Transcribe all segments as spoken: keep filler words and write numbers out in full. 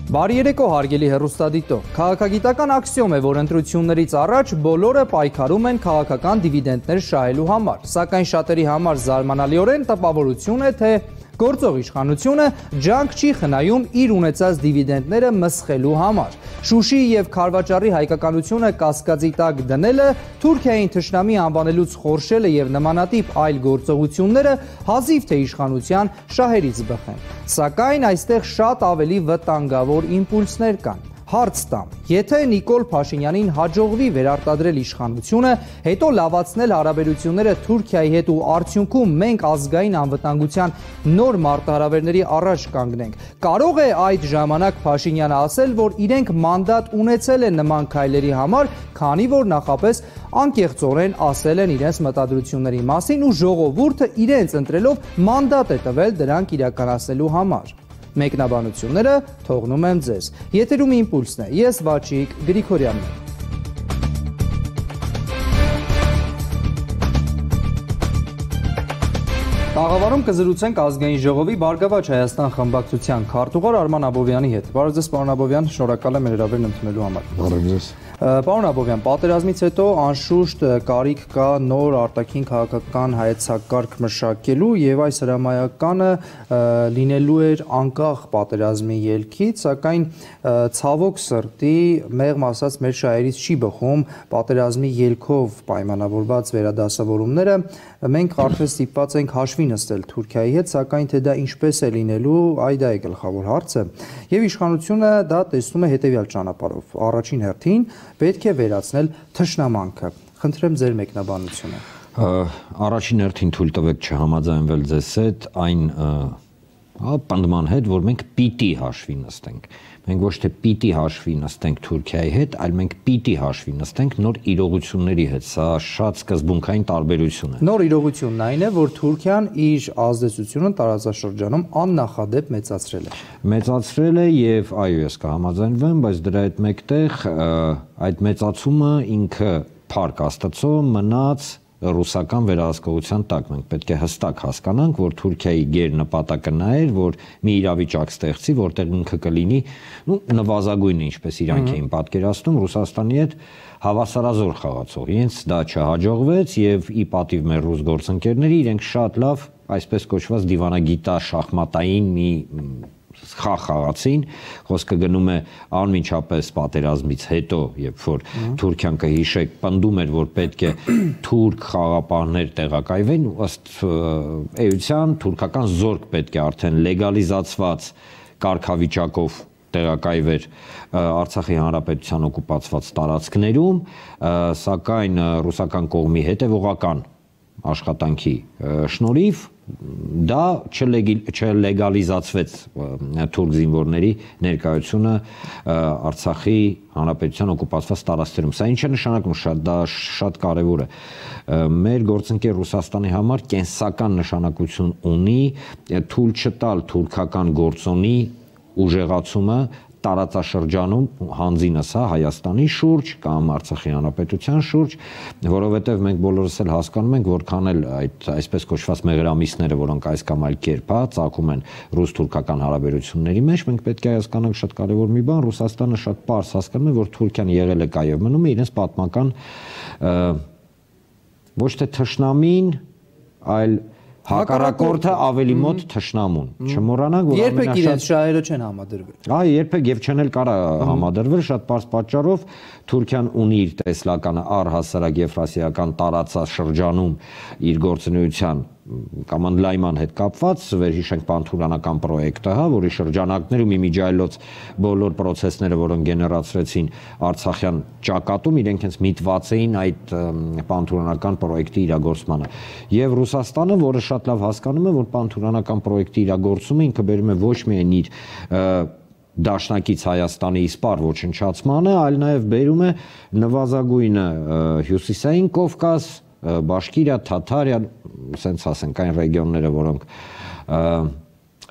Բարի երեկո հարգելի հեռուստադիտող, քաղաքագիտական աքսիոմ է, որ ընտրություններից առաջ բոլորը պայքարում են քաղաքական դիվիդենտներ շահելու համար, սակայն շատերի համար զարմանալիորեն տպավորություն է, թե գործող իշխանությունը ջանք չի խնայում իր ունեցած դիվիդենտները մսխելու համար։ Շուշիի և Քարվաճառի հայկականությունը կասկածի տակ դնելը, Թուրքիային թշնամի անվանելուց խորշելը և նմանատիպ այլ գործողությունները հազիվ թե իշխանության շահերից բխեն։ Սակայն այստեղ շատ ավելի վտանգավոր իմպուլսներ կան։ Հարց տամ, եթե Նիկոլ Փաշինյանին հաջողվի վերարտադրել իշխանությունը, հետո լավացնել հարաբերությունները Թուրքիայի հետ ու արդյունքում մենք ազգային անվտանգության նոր մարտահրավերների առաջ կանգնենք, կարող է այդ ժամանակ Փաշինյանը ասել, որ իրենք մանդատ ունեցել են նման քայլերի համար, քանի որ նախապես անկեղծորեն ասել են իրենց մտադրությունների մասին ու ժողովուրդը իրենց ընտրելով մանդատ է տվել դրանք իրականացնելու համար։ Մեկնաբանությունները թողնում եմ ձեզ։ Եթերում իմպուլսն է, ես Վաչիկ Գրիգորյանն եմ։ Տաղավարում կզրուցենք ազգային ժողովի Բարգավաճ Հայաստան խմբակցության քարտուղար Արման Աբովյանի հետ։ Բարև ձեզ, պարոն Աբովյան, շնորհակալ եմ հրավերն ընդունելու համար։ Բարև ձեզ։ Պարոն Աբովյան, պատերազմից հետո անշուշտ կարիք կա նոր արտաքին քաղաքական հայեցակարգ մշակելու եւ այս հրամայականը լինելու էր անկախ պատերազմի ելքից, սակայն ցավոք սրտի մեղմ ասած մեր շահերից չի բխում պատերազմի ելքով պայմանավորված վերադասավորումները։ Մենք արդեն ստիպված ենք հաշվի նստել Թուրքիայի հետ, սակայն թե դա ինչպես է լինելու, այ դա է գլխավոր հարցը։ Եվ իշխանությունը դա տեսնում է հետևյալ ճանապարհով։ Առաջին հերթին պետք է վերացնել թշնամանքը։ Խնդրեմ ձեր մեկնաբանությունը։ Առաջին հերթին թույլ տվեք չհամաձայնվել ձեզ հետ այն պնդման հետ, որ մենք պիտի հաշվի նստենք։ Մենք ոչ թե պիտի հաշվի նստենք Թուրքիայի հետ, այլ մենք պիտի հաշվի նստենք նոր իրողությունների հետ։ Սա շատ սկզբունքային տարբերություն է։ Նոր իրողությունն այն է, որ Թուրքիան իր ազդեցությունը տարածաշրջանում աննախադեպ մեծացրել է։ Մեծացրել է եւ այո, ես կհամաձայնվեմ, բայց դրա հետ մեկտեղ այդ մեծացումը ինքը փառք Աստծո մնաց ռուսական վերահսկողության տակ։ Մենք պետք է հստակ հասկանանք, որ Թուրքիայի գերնպատակը նա էր, որ մի իրավիճակ ստեղծի, որտեղ ինքը կլինի, ну, նվազագույնը, ինչպես իրանք էին պատկերացնում, Ռուսաստանի հետ հավասարազոր խաղացող։ Իրենց դա չհաջողվեց եւ ի պատիվ մեր ռուս գործընկերների իրենք շատ լավ, այսպես կոչված դիվանագիտա շախմատային մի խաղ խաղացին, խոսքը գնում է անմիջապես պատերազմից հետո, երբ որ Թուրքիան կհիշեք, պնդում էր, որ պետք է թուրք խաղապահներ տեղակայվեն, ըստ էության թուրքական զորք պետք է արդեն լեգալիզացված կարգավիճակով տեղակայվեր Արցախի հանրապետության օկուպացված տարածքներում, սակայն ռուսական կողմի հետևողական աշխատանքի շնորհիվ դա չլեգալիզացվեց թուրք զինվորների ներկայությունը Արցախի հանրապետության օկուպացված տարածքներում։ Սա ինչ է նշանակում, շատ դա շատ կարևոր է։ Մեր գործընկեր Ռուսաստանի համար կենսական նշանակություն ունի թույլ չտալ թուրքական գործոնի ուժեղացումը տարածաշրջանում հանձինս հա Հայաստանի շուրջ կամ Արցախի հանրապետության շուրջ, որովհետև մենք բոլորս էլ հասկանում ենք, որքան էլ այդ այսպես կոչված մեղրամիսները, որոնք այս կամ այլ կերպ հա ծագում են ռուս-թուրքական հարաբերությունների մեջ, մենք պետք է հասկանանք շատ կարևոր մի բան, Ռուսաստանը շատ պարզ հասկանում է, որ Թուրքիան եղել է կայ եւ մնում է իրենց պատմական ոչ թե թշնամին, այլ հակառակորդը ավելի մոտ թշնամուն։ Չմոռանանք, որ երբեք իրենց շահերը չեն համադրվել։ Այ երբեք եւ չեն էլ կարա համադրվել շատ պարզ պատճառով Թուրքիան ունի իր տեսլականը առհասարակ եվրասիական տարածաշրջանում իր գործունեության կամ ընդլայնման հետ կապված, վերհիշենք պանթուրքանական պրոյեկտը, հա, որի շրջանակներում իմիջիայլոց բոլոր process-ները, որոնք գեներացրեցին Արցախյան ճակատում, իրենք հենց միտված էին այդ պանթուրքանական պրոյեկտի իրագործմանը։ Եվ Ռուսաստանը, որը շատ լավ հասկանում է, որ պանթուրքանական պրոյեկտի իրագործումը ինքը բերում է ոչ միայն իր դաշնակից Հայաստանի իսպառ ոչնչացմանը, այլ նաև բերում է նվազագույնը Հյուսիսային Կովկաս, Բաշկիրիա, Թաթարիա, ասենց ասենք այն ռեգիոնները, որոնք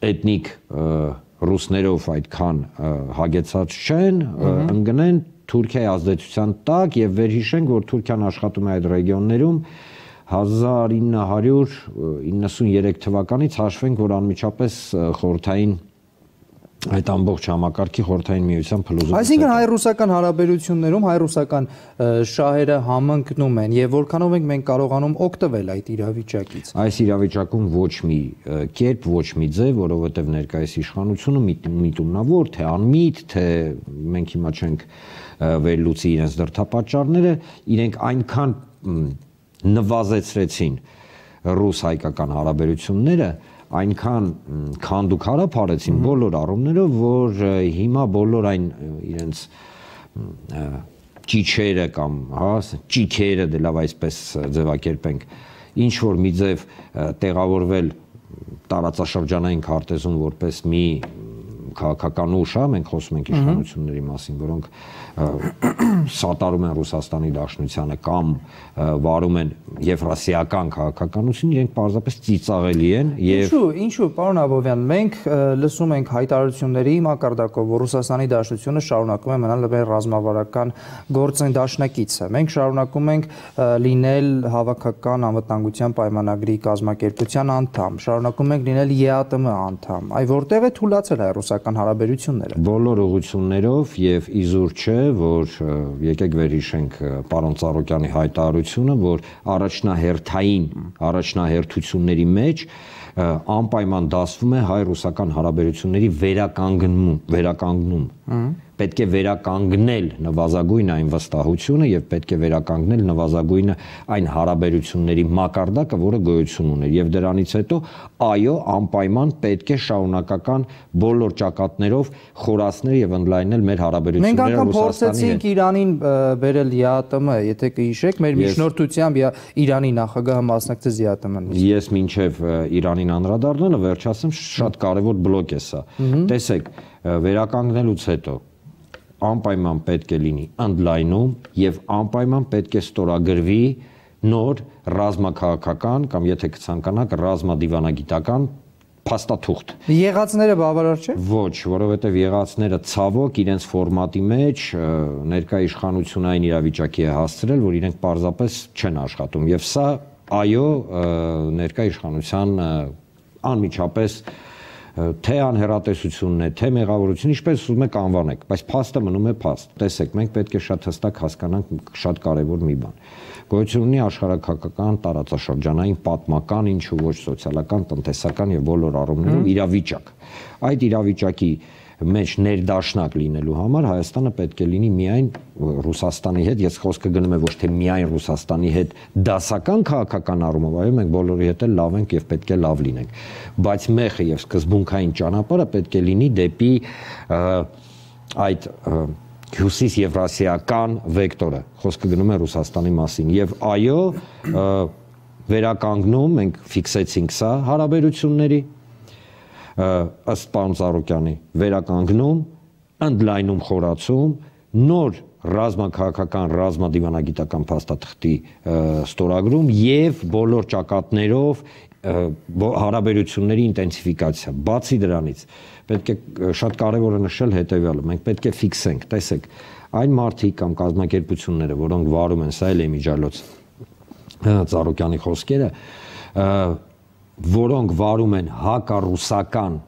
էթնիկ ռուսներով այդքան հագեցած չեն, ընկնեն Թուրքիայի ազդեցության տակ եւ վերհիշենք, որ Թուրքիան աշխատում է այդ ռեգիոններում հազար ինը հարյուր իննսուներեք թվականից հաշվենք, որ անմիջապես խորհրդային այդ ամբողջ համակարգի խորհրդային միության փլուզում։ Այսինքն հայ-ռուսական հարաբերություններում հայ-ռուսական շահերը համընկնում են եւ որքանով ենք մենք կարողանում օգտվել այդ իրավիճակից։ Այս իրավիճակում ոչ մի կերպ, ոչ մի ձև, որովհետեւ ներկայիս իշխանությունը միտումնավոր, թե անմիտ, թե մենք հիմա չենք վերլուծի իրենց դրդապատճառները, իրենք այնքան նվազեցրեցին ռուս-հայկական հարաբերությունները, այնքան քանդուկ հարաբերեցին բոլոր առումներով, որ հիմա բոլոր այն իրենց ճիչերը կամ հա ճիքերը դե լավ այսպես ձևակերպենք, ինչ որ մի ձև տեղավորվել տարածաշրջանային քարտեզում որպես մի քաղաքական ուժ, հա, մենք խոսում ենք իշխանությունների մասին, որոնք սատարում են Ռուսաստանի Դաշնությանը կամ վարում են եվրասիական քաղաքականություն, իրենք պարզապես ծիծաղելի են եւ Ինչու, ինչու, պարոն Աբովյան, մենք լսում ենք հայտարարությունների մակարդակով, որ Ռուսաստանի Դաշնությունը շարունակում է մնալ մեր ռազմավարական գործն դաշնակիցը։ Մենք շարունակում ենք լինել հավաքական անվտանգության պայմանագրի կազմակերպության անդամ, շարունակում ենք լինել Է Ա Տի Էմ անդամ։ Այ որտեղ է թուլացել հայ-ռուսական հարաբերությունները։ Բոլոր ուղղություններով եւ իզուր չէ, որ եկեք վերհիշենք պարոն Ծառուկյանի հայտարարությունը, որ առաջնահերթային առաջնահերթությունների մեջ անպայման դասվում է հայ-ռուսական հարաբերությունների վերականգնում, վերականգնում։ Պետք է վերականգնել նվազագույն այն վստահությունը եւ պետք է վերականգնել նվազագույնը այն հարաբերությունների մակարդակը, որը գոյություն ուներ եւ դրանից հետո այո, անպայման պետք է շարունակական բոլոր ճակատներով խորացնել եւ ընդլայնել մեր հարաբերությունները Ռուսաստանի հետ։ Մենք անգամ փորձեցինք Իրանին բերել Է Ա Տի Էմ, եթե կհիշեք, մեր միջնորդությամբ Իրանի նախագահը մասնակցեց Է Ա Տի Էմ-ին։ Ես մինչեւ Իրանին անդրադառնալը վերջացեմ, շատ կարեւոր բլոկ է սա։ Տեսեք, վերականգնելուց հետո անպայման պետք է լինի ընդլայնում եւ անպայման պետք է ստորագրվի նոր ռազմաքաղաքական կամ եթե կցանկանաք ռազմադիվանագիտական փաստաթուղթ։ Եղածները բավարար չէ։ Ոչ, որովհետեւ եղածները ցավոք իրենց ֆորմատի մեջ ներկայ իշխանությունային իրավիճակի է հասցրել, որ իրենք պարզապես չեն աշխատում եւ սա այո ներկայ իշխանության անմիջապես թե անհեռատեսությունն է, թե մեղավորություն, ինչպես ուզում եք անվանեք, բայց փաստը մնում է փաստ։ Տեսեք, մենք պետք է շատ հստակ հասկանանք շատ կարևոր մի բան։ Գոյություն ունի աշխարհակաղակական, տարածաշրջանային, պատմական, ինչու ոչ սոցիալական, տնտեսական եւ բոլոր առումներով իրավիճակ։ Այդ իրավիճակի մեջ ներդաշնակ լինելու համար Հայաստանը պետք է լինի միայն Ռուսաստանի հետ, ես խոսքը գնում եմ ոչ թե միայն Ռուսաստանի հետ դասական քաղաքական առումով, այո, մենք բոլորի հետ էլ լավ ենք եւ պետք է լավ լինենք, բայց մեխը եւ սկզբունքային ճանապարհը պետք է լինի դեպի այդ հյուսիս եվրասիական վեկտորը, խոսքը գնում է Ռուսաստանի մասին եւ այո, վերականգնում մենք ֆիքսեցինք սա հարաբերությունների ըստ պարոն Ծառուկյանի վերականգնում, ընդլայնում, խորացում, նոր ռազմաքաղաքական, ռազմադիվանագիտական փաստաթղթի ստորագրում եւ բոլոր ճակատներով հարաբերությունների ինտենսիֆիկացիա։ Բացի դրանից, պետք է շատ կարեւոր է նշել հետեւյալը, մենք պետք է ֆիքսենք, տեսեք, այն մարդիկ կամ կազմակերպությունները, որոնք վարում են, սա էլ է միջալոց Ծառուկյանի խոսքերը, որոնք վարում են հակառուսական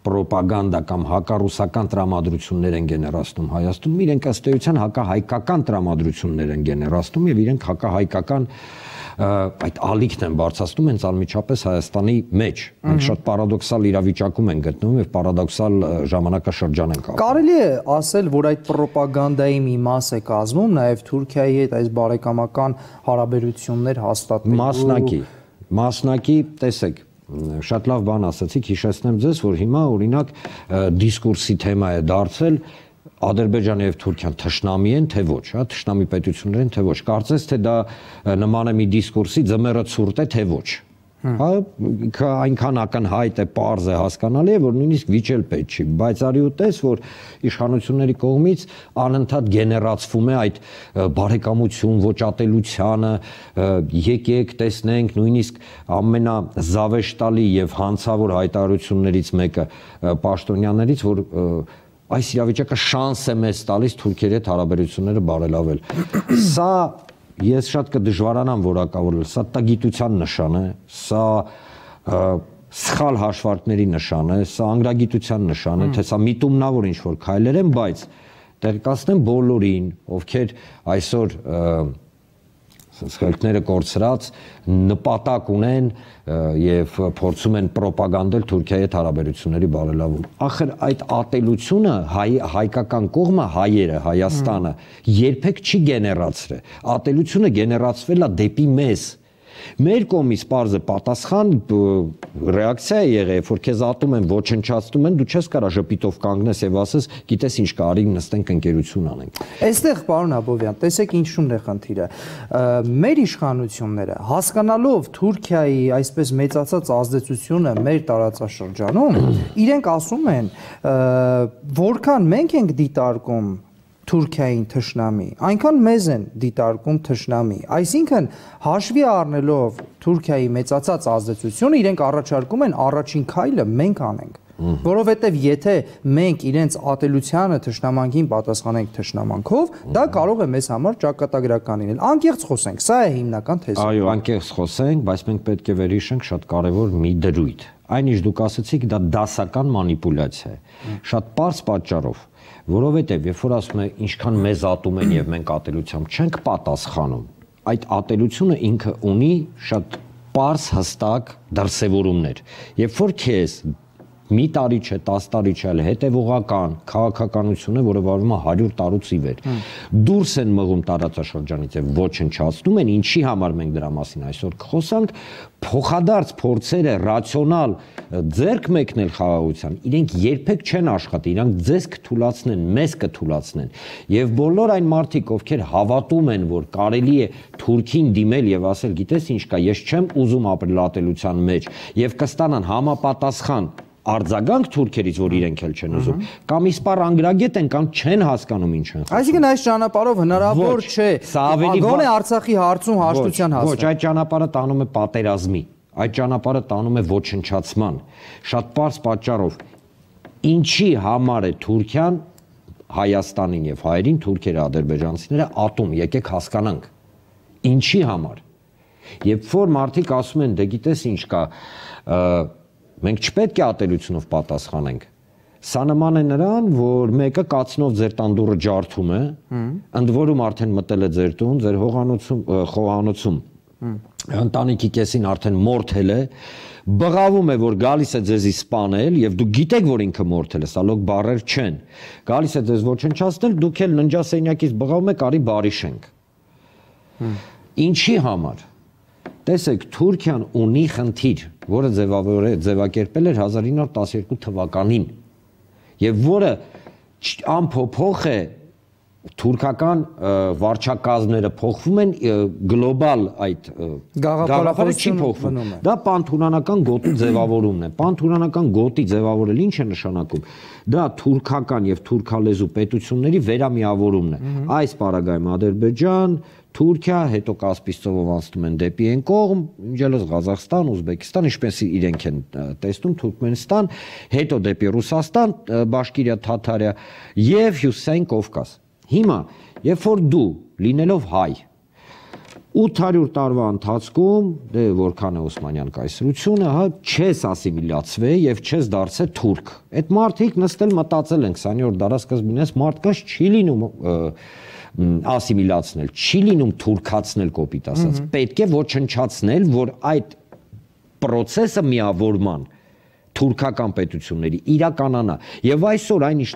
պրոպագանդա կամ հակառուսական տրամադրություններ են գեներացնում Հայաստանում, իրենք ըստ էության հակահայկական տրամադրություններ են գեներացնում եւ իրենք հակահայկական այդ ալիքն են բարձրացնում հենց անմիջապես Հայաստանի մեջ։ Մենք շատ պարադոքսալ իրավիճակում ենք գտնվում եւ պարադոքսալ ժամանակաշրջան ենք ապրում։ Կարելի է ասել, որ այդ պրոպագանդայի մի մաս է կազմում նաեւ Թուրքիայի հետ այս բարեկամական հարաբերություններ հաստատելու։ Մասնակի Մասնակի, տեսեք, շատ լավ բան ասացիք, հիշեցնեմ ձեզ, որ հիմա օրինակ դիսկուրսի թեմա է դարձել Ադրբեջանը եւ Թուրքիան թշնամի են, թե ոչ, հա, թշնամի պետություններ են, թե ոչ։ Կարծես թե դա նման է մի դիսկուրսի ձմեռը ցուրտ է, թե ոչ։ Հա, այնքան ակնհայտ է, պարզ է, հասկանալի է, որ նույնիսկ վիճել պետք չի, բայց արի ու տես, որ իշխանությունների կողմից անընդհատ գեներացվում է այդ բարեկամություն, ոչատելությանը, եկեք տեսնենք, նույնիսկ ամենազավեշտալի եւ հանցավոր հայտարարություններից մեկը պաշտոնյաներից, որ այս իրավիճակը շանս է մեզ տալիս Թուրքիայի հետ հարաբերությունները բարելավել։ Սա ես շատ կդժվարանամ որակավորել, սա տգիտության նշան է, սա սխալ հաշվարկների նշան է, սա անգրագիտության նշան է, թե սա միտումնավոր ինչ-որ քայլեր են, բայց տեղեկացնեմ բոլորին, ովքեր այսօր սխալները կորցրած նպատակ ունեն եւ փորձում են պրոպագանդել Թուրքիայի հետ հարաբերությունների բարելավում։ Ախր այդ ատելությունը հայ, հայկական կողմը, հայերը, Հայաստանը երբեք չի գեներացրել։ Ատելությունը գեներացվել է դեպի մեզ։ Մեր կողմից պարզը պատասխան ռեակցիա է եղել, որ քեզ ատում են, ոչնչացնում են, դու չես կարա ժպիտով կանգնես եւ ասես, գիտես ինչ կա, արի նստենք ընկերություն անենք։ Այստեղ պարոն Աբովյան, տեսեք ինչու՞մն է խնդիրը։ Մեր իշխանությունները հասկանալով Թուրքիայի այսպես մեծացած ազդեցությունը մեր տարածաշրջանում, իրենք ասում են, որքան մենք ենք դիտարկում Թուրքիային թշնամի, այնքան մեզ են դիտարկում թշնամի, այսինքն հաշվի առնելով Թուրքիայի մեծացած ազդեցությունը, իրենք առաջարկում են առաջին քայլը մենք անենք, որովհետև եթե մենք իրենց ատելությանը թշնամանքին պատասխանենք թշնամանքով, դա կարող է մեզ համար ճակատագրական լինել։ Անկեղծ խոսենք, սա է հիմնական թեզը։ Այո, անկեղծ խոսենք, բայց մենք պետք է վերհիշենք շատ կարևոր մի դրույթ։ Այն ինչ դուք ասացիք, դա դասական մանիպուլյացիա է։ Շատ պարզ պատճառով, որովհետև երբ որ ասում է ինչքան մեզ ատում են եւ մենք ատելությամբ չենք պատասխանում, այդ ատելությունը ինքը ունի շատ պարզ հստակ դրսևորումներ։ Երբ որ քեզ մի տարի չէ, տասը տարի չէ, այլ հետևողական քաղաքականությունը, որը վարվում է հարյուր տարուց ի վեր, դուրս են մղում տարածաշրջանից եւ ոչնչացնում են, ինչի համար մենք դրա մասին այսօր կխոսանք, փոխադարձ փորձերը ռացիոնալ ձեռք մեկնել խաղաղության, իրենք երբեք չեն աշխատի, իրանք ձեզ կթուլացնեն, մեզ կթուլացնեն։ Եվ բոլոր այն մարդիկ, ովքեր հավատում են, որ կարելի է Թուրքին դիմել եւ ասել, գիտես ինչ կա, ես չեմ ուզում ապրել ատելության մեջ, եւ կստանան համապատասխան արձագանք թուրքերից, որ իրենք էլ չեն ուզում, կամ իսպառ անգրագետ են, կամ չեն հասկանում ինչ են խոսում։ Այսինքն այս ճանապարհով հնարավոր չէ։ Գոնե Արցախի հարցում հաշտության հասնել։ Ոչ, այդ ճանապարհը տանում է պատերազմի, այդ ճանապարհը տանում է ոչնչացման։ Շատ պարզ պատճառով, ինչի համար է Թուրքիան Հայաստանին եւ հայերին, թուրքերը, ադրբեջանցիները ատում, եկեք հասկանանք։ Ինչի համար։ Երբ որ մարդիկ ասում են, դե գիտես ինչ կա, մենք չպետք է ատելությունով պատասխանենք։ Սա նման է նրան, որ մեկը կացնով ձեր տանդուրը ջարդում է, ընդ որում արդեն մտել է ձեր տուն, ձեր հողանոցում, խոհանոցում, ընտանիքի կեսին արդեն մորթել է, բղավում է, որ գալիս է ձեզի սպանել, եւ դուք գիտեք, որ ինքը մորթել է, սա լոկ բառեր չեն։ Գալիս է ձեզ ոչնչացնել, դուք էլ ննջասենյակից բղավում եք, արի բարիշենք։ Ինչի համար։ Տեսեք, Թուրքիան ունի խնդիր, որը ձևակերպել էր հազար ինը հարյուր տասներկու թվականին, եւ որը անփոփոխ է, թուրքական վարչակազմները փոխվում են, գլոբալ այդ գաղափարը չի փոխվում։ Դա պանթուրքանական գոտի ձևավորումն է։ Պանթուրքանական գոտի ձևավորել ինչ է նշանակում։ Դա թուրքական եւ թուրքալեզու պետությունների վերամիավորումն է։ Այս պարագայում Ադրբեջան, Թուրքիա, հետո Կասպից ծովով անցնում են դեպի այն կողմ, ինչելս Ղազախստան, Ուզբեկստան, ինչպես իրենք են տեսնում, Թուրքմենստան, հետո դեպի Ռուսաստան, Բաշկիրիա, Թաթարիա եւ Հյուսիսային Կովկաս։ Հիմա, երբ որ դու լինելով հայ, ութ հարյուր տարվա ընթացքում, դե որքան է Օսմանյան կայսրությունը, հա, չես ասիմիլացվել եւ չես դարձել թուրք։ Այդ մարդիկ նստել մտածել են քսաներորդ դարաշրջանին, այս մարդկանց չի լինում ասիմիլացնել, չի լինում թուրքացնել կոպիտ ասած, պետք է ոչնչացնել, որ այդ process-ը միավորման թուրքական պետությունների իրականանա եւ այսօր այն ինչ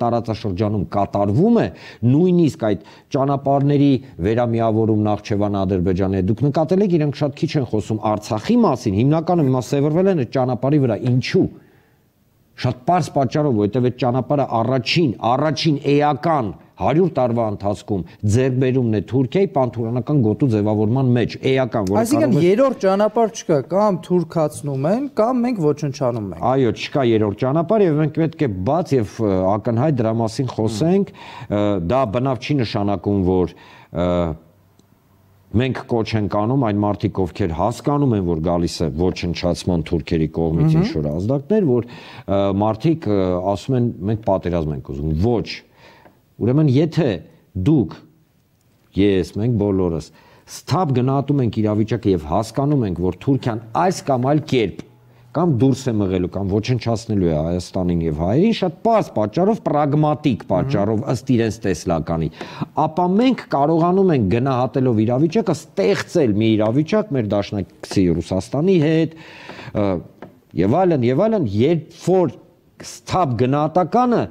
տարածաշրջանում կատարվում է, նույնիսկ այդ ճանապարհների վերամիավորում Նախճեվան Ադրբեջանի հետ, դուք նկատել եք, իրենք շատ քիչ են խոսում Արցախի մասին, հիմնականում հիմա սևեռվել են այդ ճանապարհի վրա, ինչու։ Շատ պարզ պատճառով, որովհետև այդ ճանապարհը առաջին, առաջին էական հարյուր տարվա ընթացքում ձեռքբերումն է Թուրքիայի պանթուրքանական գոտու ձևավորման մեջ, էական, որ այսինքն երրորդ ճանապարհ չկա, կամ թուրքացնում են, կամ մենք ոչնչանում ենք։ Այո, չկա երրորդ ճանապարհ եւ մենք պետք է բաց եւ ակնհայտ դրա մասին խոսենք, դա բնավ չի նշանակում, որ մենք կոչ ենք անում այն մարդիկ, ովքեր հասկանում են, որ գալիս է ոչնչացման թուրքերի կողմից ինչ-որ ազդակներ, որ մարդիկ ասում են, մենք պատերազմ ենք ուզում։ Ոչ։ Ուրեմն եթե դուք, ես, մենք բոլորս սթափ գնահատում ենք իրավիճակը եւ հասկանում ենք, որ Թուրքիան այս կամ այլ կերպ կամ դուրս է մղելու կամ ոչնչացնելու է Հայաստանին եւ հայերին շատ պարզ պատճառով, պրագմատիկ պատճառով ըստ իրենց տեսլականի, ապա մենք կարողանում ենք գնահատելով իրավիճակը ստեղծել մի իրավիճակ մեր դաշնակցի Ռուսաստանի հետ եւ այլն եւ այլն, երբ որ սթափ գնահատականը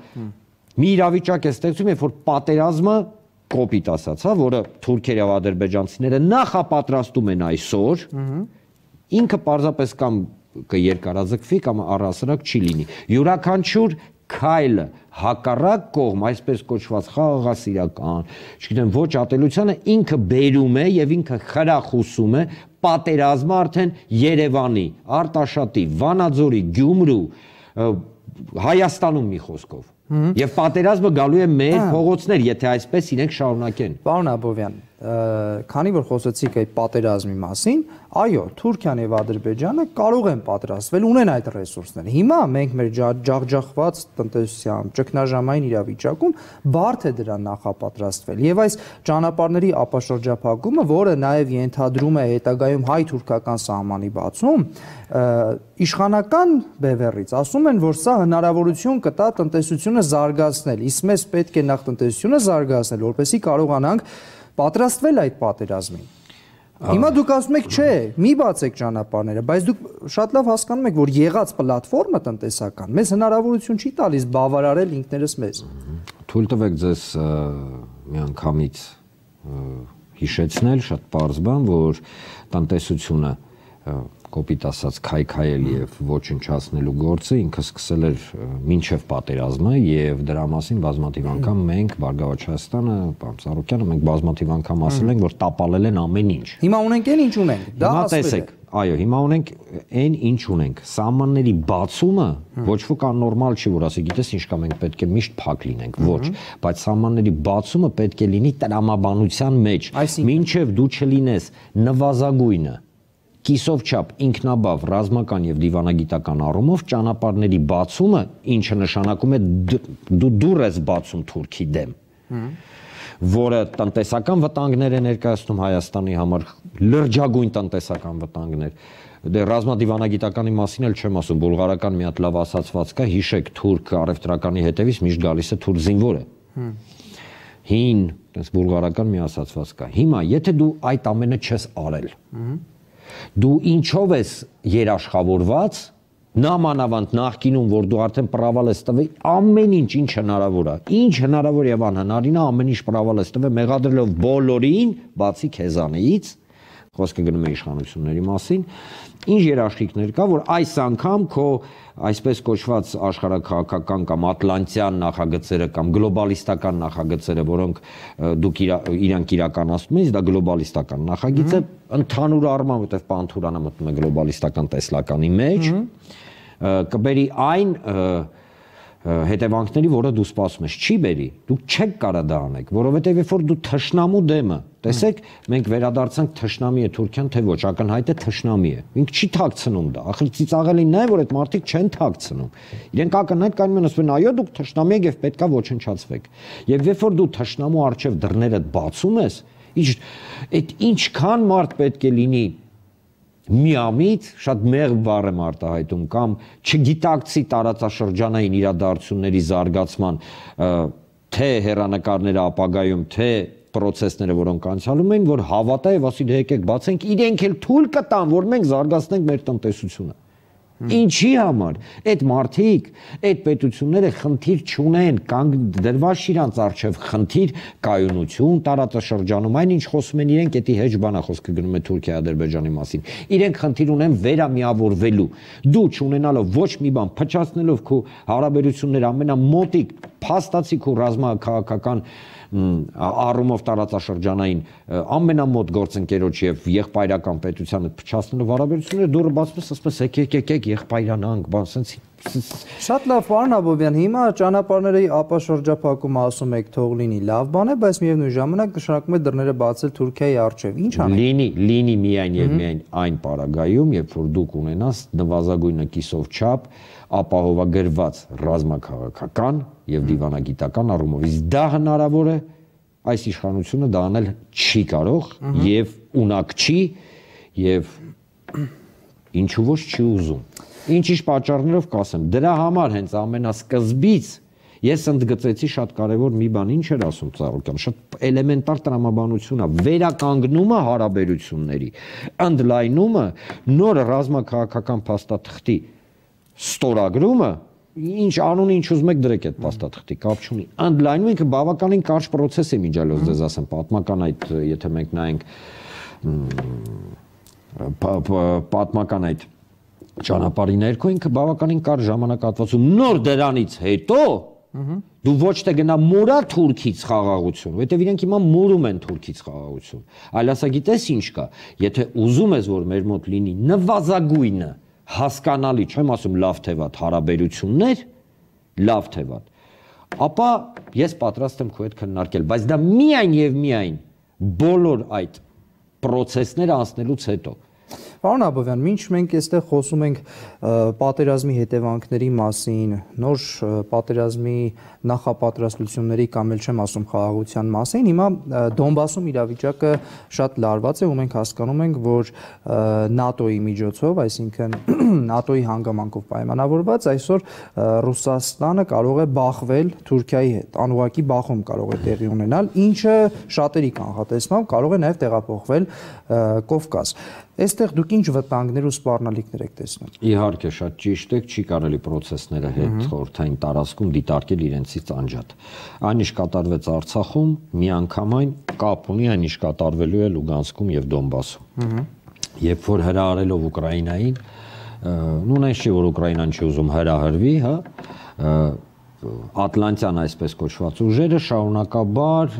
մի իրավիճակ է ստեղծում, երբ որ պատերազմը կոպիտ ասած, հա, որը թուրքերը եւ ադրբեջանցիները նախապատրաստում են այսօր, ինքը պարզապես կամ կերկարաձգվի կամ առհասարակ չի լինի։ Յուրաքանչյուր քայլը հակառակ կողմ, այսպես կոչված խաղաղասիրական, չգիտեմ, ոչ ատելությանը ինքը բերում է եւ ինքը խրախուսում է պատերազմը արդեն Երևանի, Արտաշատի, Վանաձորի, Գյումրու, Հայաստանում մի խոսքով։ Եվ պատերազմը գալու է մեր փողոցներ, եթե այսպես իրենք շարունակեն։ Պարոն Աբովյան, քանի որ խոսեցիք այդ պատերազմի մասին, այո, Թուրքիան եւ Ադրբեջանը կարող են պատրաստվել, ունեն այդ ռեսուրսները։ Հիմա մենք մեր ջախջախված տնտեսության ճգնաժամային իրավիճակում բարդ է դրան նախապատրաստվել։ Եվ այս ճանապարհների ապաշրջափակումը, որը նաեւ ենթադրում է հետագայում հայ-թուրքական սահմանի բացում, իշխանական բևեռից ասում են, որ սա հնարավորություն կտա տնտեսությունը զարգացնել, իսկ մեզ պետք է նախ տնտեսությունը զարգացնել, որպեսզի կարողանանք պատրաստվել այդ պատերազմին։ Հիմա դուք ասում եք, չէ, մի բացեք ճանապարհները, բայց դուք շատ լավ հասկանում եք, որ եղած պլատֆորմը տնտեսական մեզ հնարավորություն չի տալիս բավարարել ինքներս մեզ։ Թույլ տվեք ձեզ միանգամից հիշեցնել շատ պարզ բան, որ տնտեսությունը կոպիտ ասած քայքայել եւ ոչնչացնելու գործը ինքը սկսել էր մինչեւ պատերազմը եւ դրա մասին բազմաթիվ անգամ մենք Բարգավաճ Հայաստանը, պարոն Սարոկյանը, մենք բազմաթիվ անգամ ասել ենք, որ տապալել են ամեն ինչ։ Հիմա ունենք այն ինչ ունենք, դա ասվել է։ Այո, հիմա ունենք այն ինչ ունենք։ Սահմանների բացումը ոչ ոք աննորմալ չի, որ ասի, գիտես ինչ կա, մենք պետք է միշտ փակ լինենք, ոչ, բայց սահմանների բացումը պետք է լինի տրամաբանության մեջ, մինչեւ դու չլինես նվազագույնը կիսով չափ ինքնաբավ ռազմական եւ դիվանագիտական առումով ճանապարհների բացումը, ինչը նշանակում է դու դուր ես բացում Թուրքի դեմ, որը տնտեսական վտանգներ է ներկայացնում Հայաստանի համար, լրջագույն տնտեսական վտանգներ։ Դե ռազմադիվանագիտականի մասին էլ չեմ ասում, բուլղարական մի հատ լավ ասացված կա, հիշեք, թուրք առևտրականի հետևից միշտ գալիս է թուրք զինվորը։ Հին, այնպես բուլղարական մի ասացված կա։ Հիմա, եթե դու այդ ամենը չես արել, դու ինչով ես երաշխավորված, նամանավանդ նախկինում, որ դու արդեն պրավալ ես տվել, ամեն ինչ ինչ հնարավոր է, ինչ հնարավոր եւ անհնարին է, ամեն ինչ պրավալ ես տվել, մեղադրելով բոլորին, բացի քեզանից, խոսքը գնում է իշխանությունների մասին, ինչ երաշխիքներ կա, որ այս անգամ քո այսպես կոչված աշխարհաքաղաքական կամ ատլանտյան նախագծերը կամ գլոբալիստական նախագծերը, որոնք դուք իրանք իրականացնում եք, դա գլոբալիստական նախագիծ է, ընդհանուր առմամբ, որտեղ Պանթուրանը մտնում է գլոբալիստական տեսլականի մեջ, կբերի այն հետևանքների, որը դու սպասում ես, չի բերի, դուք չեք կարա դա անեք, որովհետև երբ որ դու թշնամու դեմը, տեսեք, մենք վերադարձանք թշնամի է Թուրքիան, թե ոչ, ակնհայտ է թշնամի է, ինք չի թաքցնում դա, ախր ծիծաղելին նա է, որ այդ մարդիկ չեն թաքցնում, իրենք ակնհայտ կային մեն ասում են, այո, դուք թշնամի եք եւ պետքա ոչնչացվեք, եւ երբ որ դու թշնամու առջեւ դռներդ բացում ես, այդ ինչքան մարդ պետք է լինի միամիտ, շատ մեղմ բառ եմ արտահայտում, կամ չգիտակցի տարածաշրջանային իրադարձությունների զարգացման թե հեռանկարները ապագայում, թե պրոցեսները, որոնք անցյալում են, որ հավատա եւ ասի դե եկեք բացենք, իրենք էլ թույլ կտան, որ մենք զարգացնենք մեր տնտեսությունը։ Ինչի համար այդ մարդիկ, այդ պետությունները խնդիր չունեն, կանգ դրված իրանց առջև խնդիր կայունություն տարածաշրջանում, այն ինչ խոսում են իրենք, էդի հեչ բանա խոսքը գնում է Թուրքիա Ադրբեջանի մասին։ Իրենք խնդիր ունեն վերամիավորվելու։ Դու չունենալով ոչ մի բան, փչացնելով քո հարաբերությունները ամենամոտիկ, փաստացի քո ռազմաքաղաքական առումով տարածաշրջանային ամենամոտ գործընկերոջ եւ եղբայրական պետությանը փչացնելով հարաբերությունները դուրը բացպես ասես եկեք եկեք եղբայրանանք, բան sense Շատ լավ, պարոն Աբովյան, հիմա ճանապարհների ապաշրջափակումը ասում եք թող լինի լավ բան է, բայց միևնույն ժամանակ նշանակում է դռները բացել Թուրքիայի առջև։ Ինչ անենք։ Լինի, լինի միայն եւ միայն այն պարագայում, երբ որ դուք ունենաս նվազագույնը կիսով չափ ապահովագրված ռազմաքաղաքական եւ դիվանագիտական առումով։ Իսկ դա հնարավոր է, այս իշխանությունը դա անել չի կարող եւ ունակ չի եւ ինչու ոչ չի ուզում։ Ինչ-ինչ պատճառներով կասեմ։ Դրա համար հենց ամենասկզբից ես ընդգծեցի շատ կարևոր մի բան, ինչ էր ասում Ծառուկյան, շատ էլեմենտար տրամաբանություն է, վերականգնումը հարաբերությունների, ընդլայնումը, նոր ռազմաքաղաքական փաստաթղթի ստորագրումը, ինչ անունը ինչ ուզում եք դրեք այդ փաստաթղթի, կապ չունի։ Ընդլայնումը ինքը բավականին կարճ process է միջալոց դες ասեմ, պատմական այդ, եթե մենք նայենք պատմական այդ ճանապարհի ներքո ինքը բավականին կարճ ժամանակահատվածում նոր դրանից հետո դու ոչ թե գնա մորա Թուրքից խաղաղություն, որովհետև իրենք հիմա մորում են Թուրքից խաղաղություն, այլ ասա գիտես ինչ կա, եթե ուզում ես որ մեր մոտ լինի նվազագույնը հասկանալի, չեմ ասում լավ թե վատ հարաբերություններ, լավ թե վատ, ապա ես պատրաստ եմ քո հետ քննարկել, բայց դա միայն եւ միայն բոլոր այդ process-ները անցնելուց հետո։ Պարոն Աբովյան, մինչ մենք այստեղ խոսում ենք պատերազմի հետևանքների մասին, նոր պատերազմի նախապատրաստությունների կամ էլ չեմ ասում խաղաղության մասին, հիմա Դոնբասում իրավիճակը շատ լարված է ու մենք հասկանում ենք, որ ՆԱՏՕ-ի միջոցով, այսինքն ՆԱՏՕ-ի հանգամանքով պայմանավորված, այսօր Ռուսաստանը կարող է բախվել Թուրքիայի հետ, անուղղակի բախում կարող է տեղի ունենալ, ինչը շատերի կանխատեսմամբ կարող է նաև տեղափոխվել Կովկաս։ Այստեղ դուք ինչ վտանգներ ու սպառնալիքներ եք տեսնում։ Իհարկե, շատ ճիշտ եք, չի կարելի process-ները հետ խորհրդային տարածքում դիտարկել իրենցից անջատ։ Այն ինչ կատարվեց Արցախում, միանգամայն կապ ունի այն ինչ կատարվելու է Լուգանսկում եւ Դոնբասում։ Երբ որ հրահարելով Ուկրաինային, նույն այն չի, որ Ուկրաինան չի ուզում հրահրվի, հա, Ատլանտյան այսպես կոչված ուժերը շարունակաբար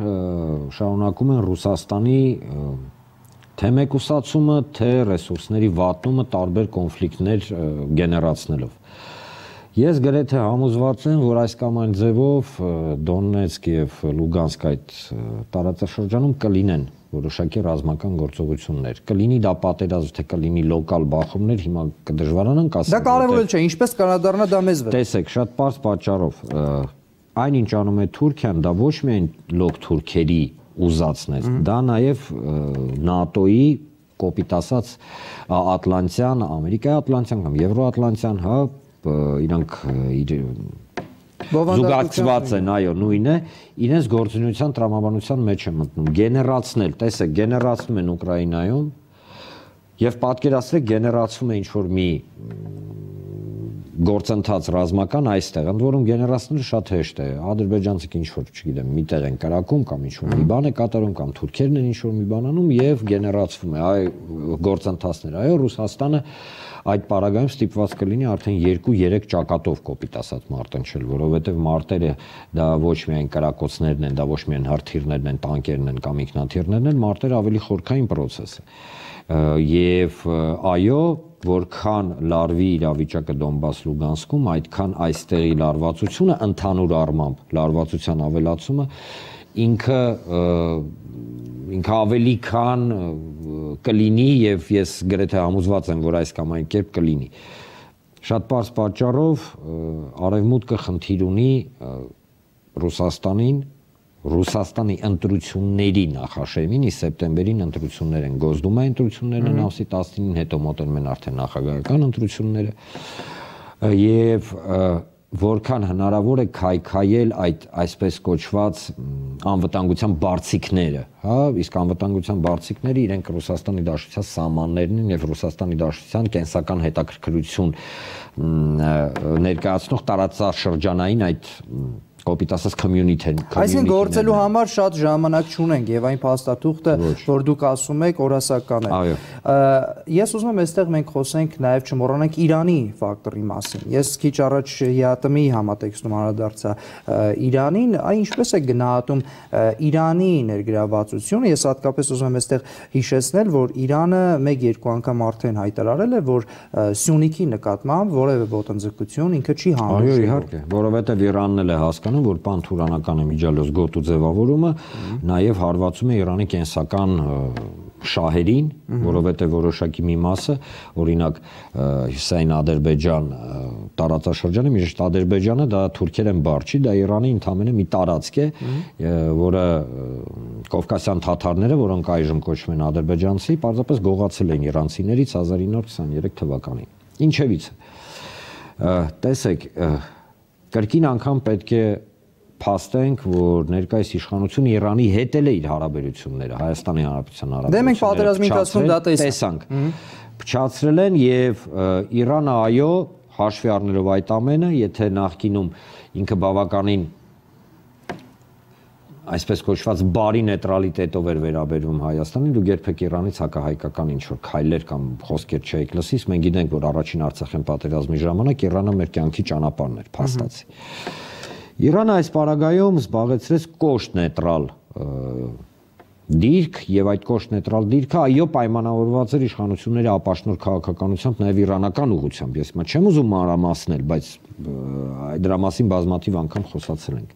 շարունակում են Ռուսաստանի թե մեկուսացումը, թե ռեսուրսների վատնումը տարբեր կոնֆլիկտներ գեներացնելով։ Ես գրեթե համոզված եմ, որ այս կամ այն ձևով Դոնեցկ եւ Լուգանսկ այդ տարածաշրջանում կլինեն որոշակի ռազմական գործողություններ։ Կլինի դա պատերազմ, թե կլինի լոկալ բախումներ, հիմա կդժվարանանք ասել։ Դա կարևոր չէ, ինչպես կանադառնա դա մեզ վրա։ Տեսեք, շատ པարզ պատճառով այն ինչ անում է Թուրքիան, դա ոչ միայն լոկ թուրքերի ուզածներ, դա նաև ՆԱՏՕ-ի կոպիտ ասած Ատլանտյան, Ամերիկայի Ատլանտյան կամ Եվրոատլանտյան, հա, իրանք զուգակցված են, այո, նույնը, իրենց գործունեության տրամաբանության մեջ են մտնում, գեներացնել, տեսեք, գեներացնում են Ուկրաինայում եւ պատկերացրեք գեներացում է ինչ-որ մի գործընթաց ռազմական այստեղ, ընդ որում գեներացնելը շատ հեշտ է, ադրբեջանցիք ինչ-որ, չգիտեմ, մի տեղ են կրակում կամ ինչ-որ մի բան է կատարում կամ թուրքերն են ինչ-որ մի բան անում եւ գեներացվում է, այ գործընթացներ, այո, Ռուսաստանը այդ պարագայում ստիպված կլինի արդեն երկու-երեք ճակատով կոպիտ ասած մարտնչել, որովհետև մարտերը դա ոչ միայն կրակոցներն են, դա ոչ միայն հրթիռներն են, տանկերն են կամ ինքնաթիռներն են, մարտերը ավելի խորքային process է։ Եվ այո, որքան լարվի իրավիճակը Դոնբաս-Լուգանսկում, այդքան այստեղի լարվածությունը ընդհանուր առմամբ լարվածության ավելացումը ինքը ինքը ավելի քան կլինի եւ ես գրեթե համոզված եմ, որ այս կամ այն կերպ կլինի։ Շատ པարզ պատճառով արևմուտքը խնդիր ունի Ռուսաստանին, Ռուսաստանի ընտրությունների նախաշեմին, իսկ սեպտեմբերին ընտրություններ են, Գոսդումայի ընտրություններն են ամսի տասնինին, հետո մոտենում են արդեն նախագահական ընտրությունները եւ որքան հնարավոր է քայքայել այդ այսպես կոչված անվտանգության բարձիկները, հա, իսկ անվտանգության բարձիկները իրենք Ռուսաստանի Դաշնության սահմաններն են եւ Ռուսաստանի Դաշնության կենսական հետաքրքրություն ներկայացնող տարածաշրջանային այդ կոպիտ ասած community-ն։ Այսինքն գործելու համար շատ ժամանակ չունենք եւ այն փաստաթուղթը, որ դուք ասում եք, օրասական է։ Ես ուզում եմ այստեղ մենք խոսենք նաեւ չմոռանանք Իրանի ֆակտորի մասին։ Ես քիչ առաջ ԵԱՏՄ-ի համատեքստում անդրադարձա Իրանին, այն ինչպես է գնահատում Իրանի ներգրավվածությունը։ Ես հատկապես ուզում եմ այստեղ հիշեցնել, որ Իրանը մեկ-երկու անգամ արդեն հայտարարել է, որ Սյունիքի նկատմամբ որևէ ոտնձգություն ինքը չի հանդուրժել։ Այո, իհարկե, որովհետեւ Իրանն էլ է հասկանում, որ պանթուրանական է միջալոց գոտու ձևավորումը նաև հարվածում է Իրանի կենսական շահերին, որովհետև որոշակի մի մասը, օրինակ Հյուսեյն Ադրբեջան տարածաշրջանը, միշտ Ադրբեջանը դա թուրքեր են բառ չի, դա Իրանի ընդամենը մի տարածք է, որը կովկասյան թաթարները, որոնք այժմ կոչվում են ադրբեջանցի, պարզապես գողացել են իրանցիներից հազար ինը հարյուր քսաներեք թվականին։ Ինչևից է։ Տեսեք, կրկին անգամ պետք է փաստենք, որ ներկայիս իշխանությունը Իրանի հետ էլ է իր հարաբերությունները, Հայաստանի Հանրապետության հարաբերությունները։ Դե մենք պատերազմի ընթացքում դա տեսանք, փչացրել են եւ Իրանը այո, հաշվի առնելով այդ ամենը, եթե նախկինում ինքը բավականին այսպես կոչված բարի նեյտրալիտետով էր վերաբերվում Հայաստանին, դուք երբեք Իրանից հակահայկական ինչ-որ քայլեր կամ խոսքեր չէիք լսից, մենք գիտենք, որ առաջին Արցախյան պատերազմի ժամանակ Իրանը մեր կյանքի ճանապարհն էր, փաստացի։ Իրանը այս պարագայում զբաղեցրեց կոշտ նեյտրալ դիրք եւ այդ կոշտ նեյտրալ դիրքը այո պայմանավորված էր իշխանությունների ապաշնոր քաղաքականությամբ նաեւ իրանական ուղղությամբ։ Ես մա չեմ ուզում մանրամասնել, բայց դրա մասին բազմաթիվ անգամ խոսացել ենք։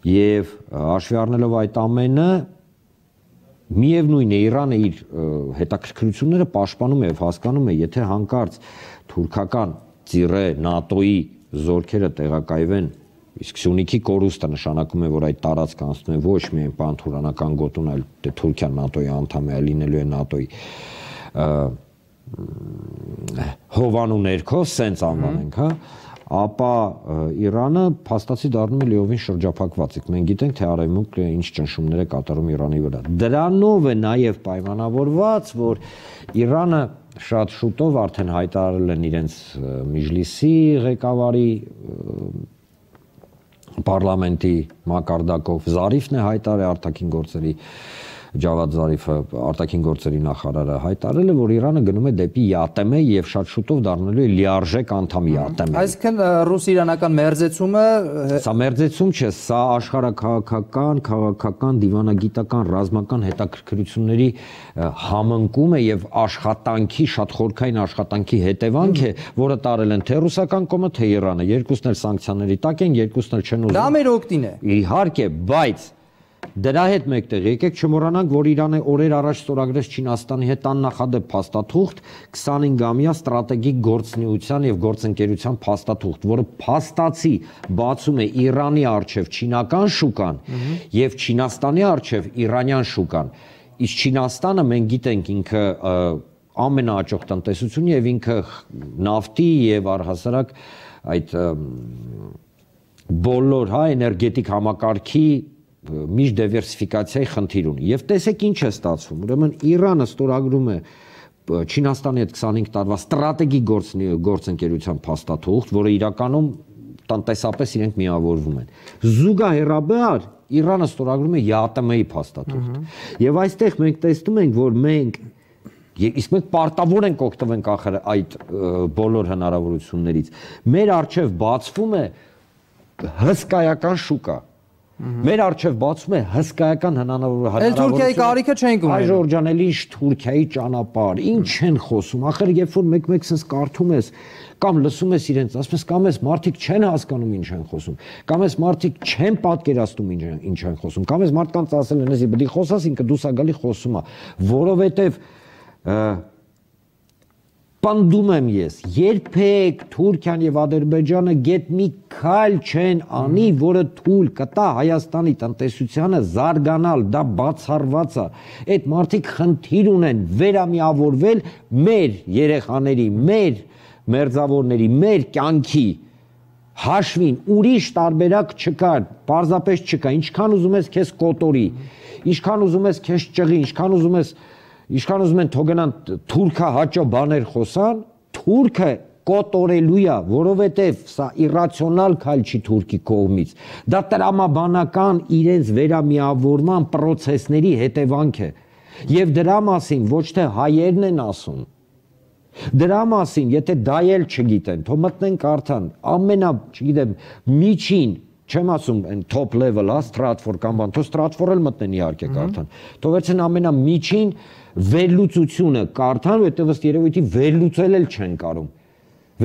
Եվ հաշվի առնելով այդ ամենը, միևնույն է Իրանը իր հետաքրքրությունները պաշտպանում է եւ հասկանում է, եթե հանկարծ թուրքական ծիրե ՆԱՏՕ-ի զորքերը տեղակայվեն, իսկ Սյունիքի կորուստը նշանակում է, որ այդ տարածքը անցնում է ոչ միայն պանթուրանական գոտուն, այլ Թուրքիան ՆԱՏՕ-ի անդամ է, լինելու է ՆԱՏՕ-ի հովանու ներքո, սենց անվանենք, հա, ապա Իրանը փաստացի դառնում է լիովին շրջափակված։ Մենք գիտենք, թե Արևմուտքը ինչ ճնշումներ է կատարում Իրանի վրա։ Դրանով է նաև պայմանավորված, որ Իրանը շատ շուտով արդեն հայտարարել են իրենց Միջլիսի ղեկավարի պարլամենտի մակարդակով, Զարիֆն է հայտարարել արտաքին գործերի Ջավադ Զարիֆը, արտաքին գործերի նախարարը հայտարարել է, որ Իրանը գնում է դեպի ԵԱՏՄ եւ շատ շուտով դառնալու է լիարժեք անդամ ԵԱՏՄ-ի։ Այսինքն ռուս-իրանական մերձեցումը սա մերձեցում չէ, սա աշխարհաքաղաքական, քաղաքական, դիվանագիտական, ռազմական հետաքրքրությունների համընկում է եւ աշխատանքի, շատ խորքային աշխատանքի հետևանք է, որը տարել են թե ռուսական կողմը, թե Իրանը։ Երկուսն էլ սանկցիաների տակ են, երկուսն էլ չեն ուզում։ Դա մեր օգտին է։ Իհարկե, բայց դրա հետ մեկտեղ եկեք չմոռանանք, որ Իրանը օրեր առաջ ստորագրեց Չինաստանի հետ աննախադեպ փաստաթուղթ քսանհինգամյա ստրատեգիկ գործունեության եւ գործընկերության փաստաթուղթ, որը փաստացի բացում է Իրանի արչեւ չինական շուկան եւ Չինաստանի արչեւ իրանյան շուկան։ Իսկ Չինաստանը մենք գիտենք ինքը ամենաաճող տնտեսությունն եւ ինքը նավթի եւ առհասարակ այդ բոլոր հա էներգետիկ համակարգի միշտ դիվերսիֆիկացիայի խնդիր ունի։ Եվ տեսեք ինչ է ստացվում։ Ուրեմն Իրանը ստորագրում է Չինաստանի հետ քսանհինգ տարվա ստրատեգիկ գործընկերության փաստաթուղթ, որը իրականում տնտեսապես իրենք միավորվում են։ Զուգահեռաբար Իրանը ստորագրում է ԵԱՏՄ-ի փաստաթուղթ։ Եվ այստեղ մենք տեսնում ենք, որ մենք իսկ մենք պարտավոր ենք օգտվենք ախր այդ բոլոր հնարավորություններից։ Մեր առջև բացվում է հսկայական շուկա։ Մեր առջև բացում է հսկայական հնարավորություն։ Էլ Թուրքիայի կարիքը չենք ունենում։ Այ Ժորժան, էլի ինչ Թուրքիայի ճանապարհ, ինչ են խոսում։ Ախր երբ որ մեկ-մեկ sense կարդում ես կամ լսում ես իրենց, ասում ես կամ ես մարդիկ չեն հասկանում ինչ են խոսում, կամ ես մարդիկ չեն պատկերացնում ինչ են ինչ են խոսում, կամ ես մարդկանց ասել են, էսի պետք է խոսաս, ինքը դուս ագալի խոսում է, որովհետև պնդում եմ ես, երբեք Թուրքիան եւ Ադրբեջանը գետ մի քայլ չեն անի, որը թույլ կտա Հայաստանի տնտեսությանը զարգանալ, դա բացառված է։ Այդ մարդիկ խնդիր ունեն վերամիավորվել մեր երեխաների, մեր մերձավորների, մեր կյանքի հաշվին, ուրիշ տարբերակ չկա, պարզապես չկա, ինչքան ուզում ես քեզ կոտորի, ինչքան ուզում ես քեզ ճղի, ինչքան ուզում ես Ինչքան ուզում են թողնան թուրքա հաճո բաներ խոսան, թուրքը կոտորելու է, որովհետև սա իրացիոնալ քայլ չի Թուրքի կողմից։ Դա տրամաբանական իրենց վերամիավորման process-ների հետևանք է։ Եվ դրա մասին ոչ թե հայերն են ասում։ Դրա մասին, եթե դա էլ չգիտեն, թող մտնեն կարդան, ամենա, չգիտեմ, միջին Չեմ ասում այն top level, հա, Stratfor կամ բան, թող Stratfor էլ մտնեն իհարկե կարդան։ Թող վերցեն ամենամիջին վերլուծությունը կարդան, որտեղ ըստ երևույթի վերլուծել էլ չեն կարող։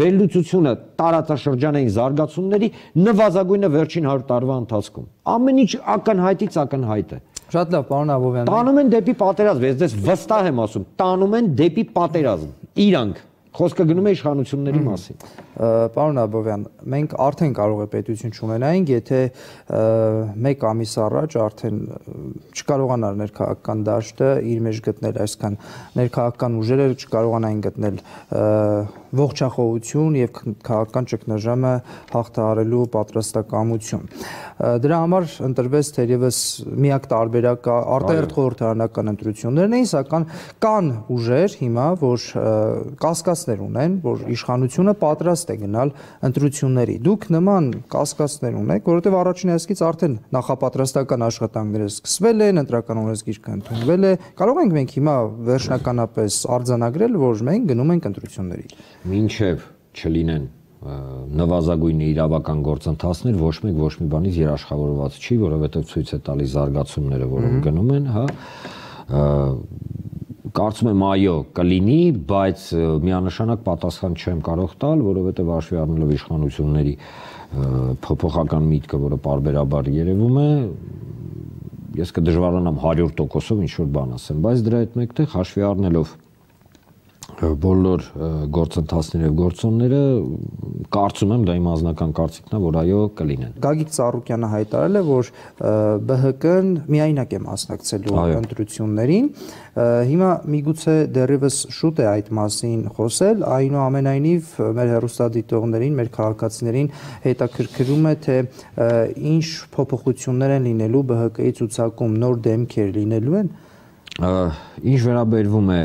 Վերլուծությունը տարածաշրջանային զարգացումների նվազագույնը վերջին հարյուր տարվա ընթացքում։ Ամեն ինչ ակնհայտից ակնհայտ է։ Շատ լավ, պարոն Աբովյան։ Տանում են դեպի պատերազմ, ես դες վստահ եմ ասում, տանում են դեպի պատերազմ։ Իրանք Խոսքը գնում է իշխանությունների մասին։ Պարոն Աբովյան, մենք արդեն կարող է պետություն չունենայինք, եթե մեկ ամիս առաջ արդեն չկարողանար ներքաղաքական դաշտը իր մեջ գտնել, այսքան ներքաղաքական ուժերը չկարողանային գտնել ողջախոհություն եւ քաղաքական ճգնաժամը հաղթահարելու պատրաստակամություն։ Դրա համար ընտրվեց թերևս միակ տարբերակը արտահերթ խորհրդարանական ընտրություններն էին, սակայն կան ուժեր հիմա, որ կասկածներ ունեն, որ իշխանությունը պատրաստ է գնալ ընտրությունների։ Դուք նման կասկածներ ունեք, որովհետեւ առաջին հերթից արդեն նախապատրաստական աշխատանքները սկսվել են, ընտրական օրենսգիրքը ընդունվել է։ Կարող ենք մենք հիմա վերջնականապես արձանագրել, որ մենք գնում ենք ընտրությունների։ Մինչև չլինեն նվազագույն իրավական գործընթացներ, ոչ մեկ ոչ մի բանից երաշխավորված չի, որովհետև ցույց է տալիս զարգացումները, որոնք գնում են, հա, կարծում եմ այո, կլինի, բայց միանշանակ պատասխան չեմ կարող տալ, որովհետև հաշվի առնելով իշխանությունների փոփոխական միտքը, որը պարբերաբար երևում է, ես կդժվարանամ հարյուր տոկոսով ինչ-որ բան ասեմ, բայց դրա հետ մեկտեղ հաշվի առնելով բոլոր գործընթացները եւ գործոնները կարծում եմ դա իմ անձնական կարծիքն է, որ այո կլինեն։ Գագիկ Ծառուկյանը հայտարարել է, որ ԲՀԿ-ն միայնակ է մասնակցելու ընտրություններին։ Հիմա միգուցե դեռևս շուտ է այդ մասին խոսել, այնուամենայնիվ մեր հեռուստադիտողներին, մեր քաղաքացիներին հետաքրքրում է, թե ինչ փոփոխություններ են լինելու ԲՀԿ-ի ցուցակում, նոր դեմքեր լինելու են։ Ինչ վերաբերվում է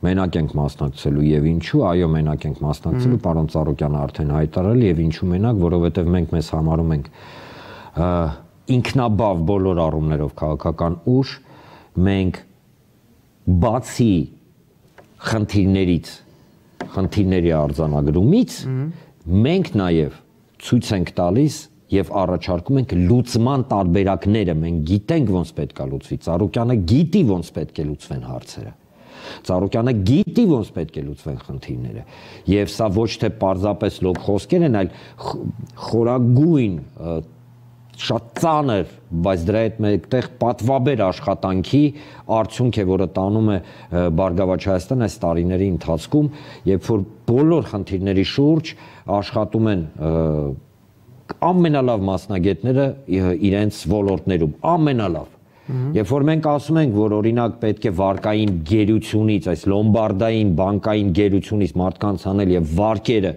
մենակ ենք մասնակցելու եւ ինչու, այո, մենակ ենք մասնակցելու, պարոն Ծառուկյանը արդեն հայտարարել եւ ինչու մենակ, որովհետեւ մենք մեզ համարում ենք ինքնաբավ բոլոր առումներով քաղաքական ուժ, մենք բացի խնդիրներից, խնդիրների արձանագրումից, մենք նաեւ ցույց ենք տալիս եւ առաջարկում ենք լուծման տարբերակները, մենք գիտենք ոնց պետք է լուծվի, Ծառուկյանը գիտի ոնց պետք է լուծվեն հարցերը։ Ծառուկյանը գիտի ոնց պետք է լուծվեն խնդիրները եւ սա ոչ թե պարզապես լոկ խոսքեր են, այլ խորագույն շատ ծանր, բայց դրա հետ մեկտեղ պատվաբեր աշխատանքի արդյունք է, որը տանում է Բարգավաճ Հայաստան այս տարիների ընթացքում, երբ որ բոլոր խնդիրների շուրջ աշխատում են ամենալավ մասնագետները իրենց ոլորտներում, ամենալավ։ Երբ որ մենք ասում ենք, որ օրինակ պետք է վարկային գերությունից, այս լոմբարդային բանկային գերությունից մարդկանց անել եւ վարկերը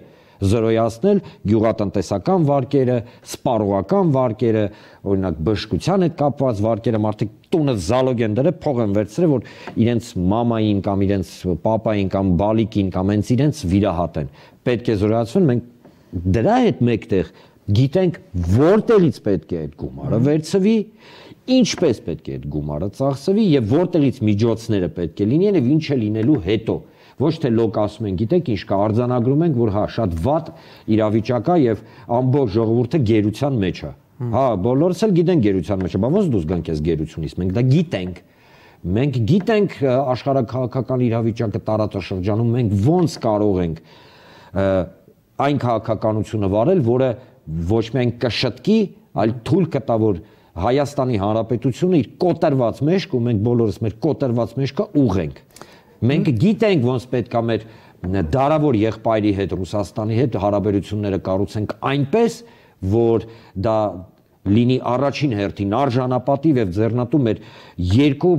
զրոյացնել, գյուղատնտեսական վարկերը, սպառողական վարկերը, օրինակ բժշկության հետ կապված վարկերը, մարդիկ տունը զալոգ են դրել, փող են վերցրել, որ իրենց մամային կամ իրենց պապային կամ բալիկին կամ հենց իրենց վիրահատեն։ Պետք է զրոյացվեն, մենք դրա հետ մեկտեղ գիտենք որտեղից պետք է այդ գումարը վերցվի, ինչպես պետք է այդ գումարը ծախսվի եւ որտեղից միջոցները պետք է լինեն եւ ինչ է լինելու հետո։ Ոչ թե լոկ ասում են, գիտեք ինչ կա, արձանագրում ենք, որ հա շատ վատ իրավիճակ է եւ ամբողջ ժողովուրդը գերության մեջ է։ Հա, բոլորս էլ գիտեն գերության մեջ է, բայց ոնց դուրս գանք այս գերությունից։ Մենք դա գիտենք։ Մենք գիտենք աշխարհակաղակական իրավիճակը տարածաշրջանում, մենք ոնց կարող ենք այն քաղաքականությունը վարել, որը ոչ միայն կշտկի, այլ թույլ կտա, որ Հայաստանի Հանրապետությունը իր կոտրված մեջքը, ու մենք բոլորս մեր կոտրված մեջքը ուղենք։ Մենք գիտենք ոնց պետք է մեր դարավոր եղբայրի հետ, Ռուսաստանի հետ հարաբերությունները կառուցենք այնպես, որ դա լինի առաջին հերթին արժանապատիվ եւ ձեռնատու մեր երկու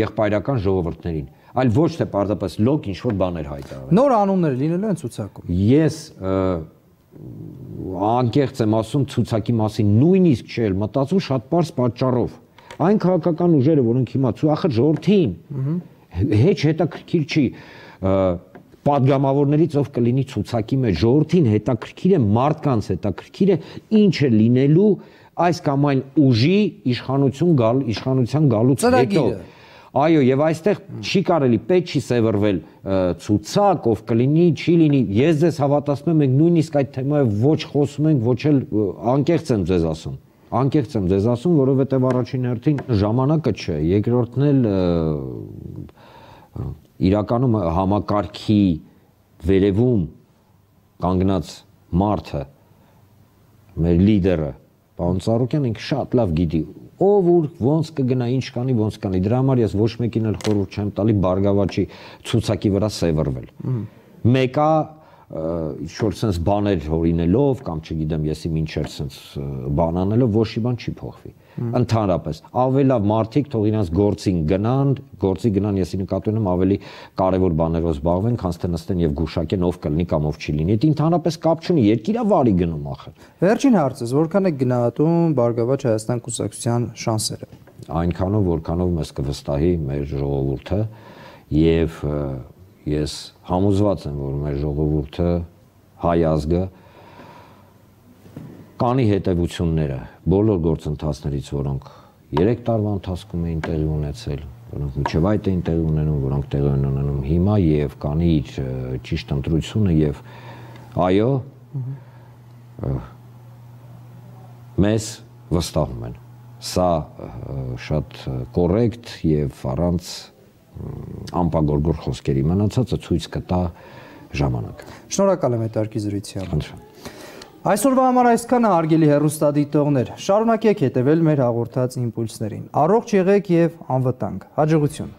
եղբայրական ժողովուրդներին, այլ ոչ թե պարզապես լոկ ինչ-որ բաներ հայտարարել։ Նոր անուններ լինելու են ցուցակում։ Ես անկեղծ եմ ասում ցուցակի մասին, նույնիսկ չէ մտածում շատ པարզ պատճառով։ Այն քաղաքական ուժերը, որոնք հիմա ախր ժողովրդին հեչ հետաքրքիր չի պատգամավորներից ով կլինի ցուցակի մեջ, ժողովրդին հետաքրքիր է, մարդկանց հետաքրքիր է ինչ է լինելու այս կամ այն ուժի իշխանություն գալ, իշխանության գալուց հետո։ Այո, եւ այստեղ չի կարելի, պետք չի սևեռվել ցուցակ, ով կլինի, չի լինի։ Ես ձեզ հավատացնում եմ, մենք նույնիսկ այդ թեմայով ոչ խոսում ենք, ոչ էլ անկեղծ եմ ձեզ ասում։ Անկեղծ եմ ձեզ ասում, որովհետեւ առաջին հերթին ժամանակը չէ, երկրորդն էլ իրականում համակարգի վերևում կանգնած մարդը, մեր լիդերը, պարոն Ծառուկյան, ինքը շատ լավ գիտի ով ուր ոնց կգնա, ինչ կանի, ոնց կանի։ Դրա համար ես ոչ մեկին էլ խորհուրդ չեմ տալի Բարգավաճի ցուցակի վրա սևեռվել։ Մեկը ինչ-որ sense բաներ հորինելով կամ չգիտեմ եսի մինչեր sense բան անելով ոչ մի բան չի փոխվի։ Ընդհանրապես ավելավ մարդիկ թող իրանց գործին գնան, գործի գնան, եսի նկատի ունեմ ավելի կարևոր բաներով զբաղվեն, քան թե նստեն եւ գուշակեն ով կլինի կամ ով չի լինի։ Դա ընդհանրապես կապ չունի, երկիրա վարի գնում ախր։ Վերջին հարցս, որքան է գնահատում Բարգավաճ Հայաստան կուսակցության շանսերը։ Այնքանով, որքանով մեզ կվստահի մեր ժողովուրդը եւ ես համոզված եմ, որ մեր ժողովուրդը հայ ազգը կանի հետևությունները բոլոր գործընթացներից, որոնք երեք տարվա ընթացքում էին տեղի ունեցել, որոնք մինչև այդ էին տեղի ունենում, որոնք տեղի են ունենում հիմա եւ կանի իր ճիշտ ընտրությունը եւ այո մեզ վստահում են։ Սա շատ կոռեկտ եւ առանց անպագորգոր խոսքերի մնացածը ցույց կտա ժամանակը։ Շնորհակալ եմ հետարքի զրույցի համար։ Այսօրվա համար այսքանը, հարգելի հեռուստադիտողներ, շարունակեք հետևել մեր հաղորդած իմպուլսներին։ Առողջ եղեք եւ անվտանգ։ Հաջողություն։